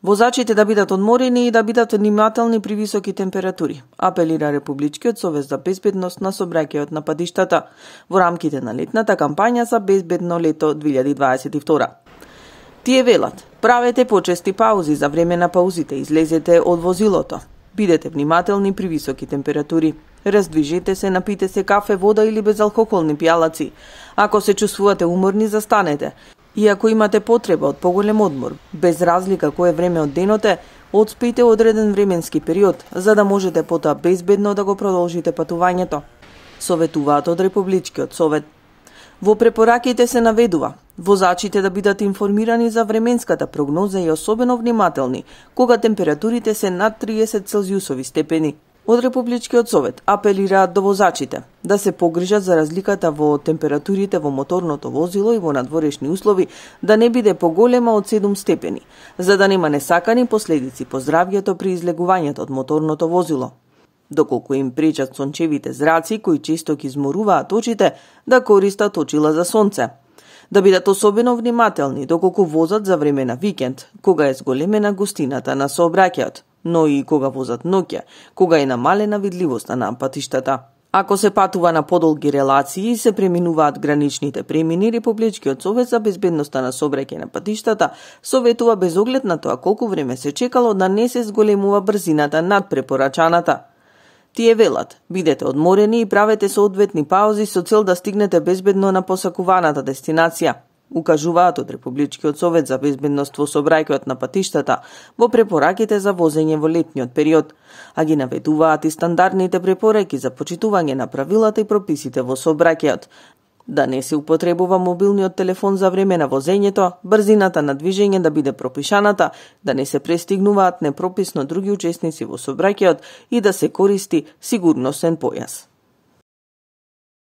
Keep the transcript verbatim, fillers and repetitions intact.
Возачите да бидат одморени и да бидат внимателни при високи температури, апелира Републичкиот совет за безбедност на сообраќајот на патиштата во рамките на летната кампања за безбедно лето две илјади дваесет и втора. Тие велат: правете почести паузи за време на паузите, излезете од возилото, бидете внимателни при високи температури, раздвижете се, напите се кафе, вода или безалкохолни пијалаци. Ако се чувствувате уморни, застанете. И ако имате потреба од поголем одмор, без разлика кое време од денот е, одспијте одреден временски период, за да можете потоа безбедно да го продолжите патувањето, советуваат од Републичкиот совет. Во препораките се наведува возачите да бидат информирани за временската прогноза и особено внимателни кога температурите се над триесет целзиусови степени. Од Републичкиот совет апелираат до возачите да се погрижат за разликата во температурите во моторното возило и во надворешни услови да не биде поголема од седум степени, за да нема несакани последици по здравјето при излегувањето од моторното возило. Доколку им пречат сончевите зраци кои често ги изморуваат очите, да користат очила за сонце. Да бидат особено внимателни доколку возат за време на викенд, кога е зголемена густината на сообраќајот, но и кога возат ноќе, кога е намалена видливоста на патиштата. Ако се патува на подолги релации и се преминуваат граничните премини, Републичкиот совет за безбедноста на сообраќај на патиштата советува без оглед на тоа колку време се чекало да не се зголемува брзината над препорачаната. Тие велат: бидете одморени и правете соодветни паузи со цел да стигнете безбедно на посакуваната дестинација, укажуваат од Републичкиот совет за безбедност во сообраќајот на патиштата во препораките за возење во летниот период, а ги наведуваат и стандардните препораки за почитување на правилата и прописите во сообраќајот, да не се употребува мобилниот телефон за време на возењето, брзината на движење да биде пропишаната, да не се престигнуваат непрописно други учесници во сообраќајот и да се користи сигурносен појас.